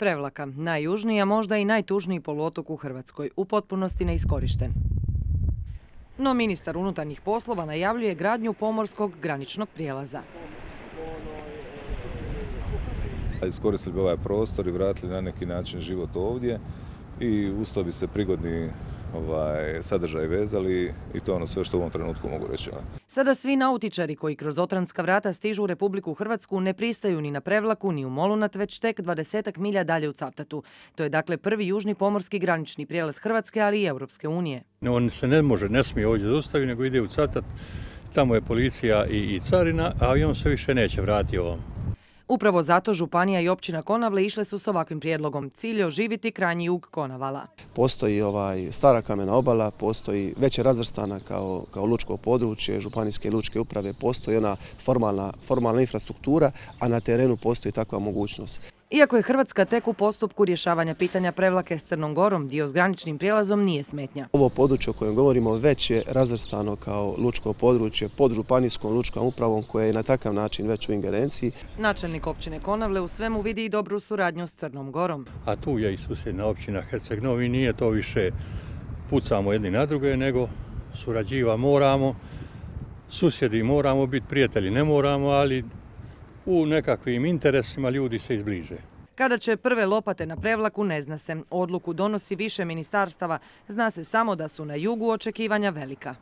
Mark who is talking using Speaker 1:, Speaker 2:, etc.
Speaker 1: Prevlaka, najjužniji, a možda i najtužniji poluotok u Hrvatskoj, u potpunosti neiskorišten. No ministar unutarnjih poslova najavljuje gradnju pomorskog graničnog prijelaza.
Speaker 2: Iskoristili bi ovaj prostor i vratili na neki način život ovdje i uz to bi se prigodni sadržaj vezali i to je ono sve što u ovom trenutku mogu reći.
Speaker 1: Sada svi nautičari koji kroz Otranska vrata stižu u Republiku Hrvatsku ne pristaju ni na Prevlaku ni u Molunat, već tek 20 milja dalje u Cavtatu. To je dakle prvi južni pomorski granični prijelaz Hrvatske, ali i Europske unije.
Speaker 3: On se ne smije ovdje zaustaviti, nego ide u Cavtat, tamo je policija i carina, a on se više neće vratiti ovom.
Speaker 1: Upravo zato županija i općina Konavle išle su s ovakvim prijedlogom. Cilj je oživiti krajnji jug Konavala.
Speaker 4: Postoji stara kamena obala, postoji već je razvrstana kao lučko područje, županijske lučke uprave, postoji ona formalna infrastruktura, a na terenu postoji takva mogućnost.
Speaker 1: Iako je Hrvatska tek u postupku rješavanja pitanja Prevlake s Crnom Gorom, dio s graničnim prijelazom nije smetnja.
Speaker 4: Ovo područje o kojem govorimo već je razvrstano kao lučko područje pod županijskom lučkom upravom koja je na takav način već u ingerenciji.
Speaker 1: Načelnik općine Konavle u svemu vidi i dobru suradnju s Crnom Gorom.
Speaker 3: A tu je i susjedna općina Herceg Novi, nije to više pucamo jedni na druge, nego surađiva moramo, susjedi moramo biti, prijatelji ne moramo, ali u nekakvim interesima ljudi se izbliže.
Speaker 1: Kada će prve lopate na Prevlaku ne zna se. Odluku donosi više ministarstava. Zna se samo da su na jugu očekivanja velika.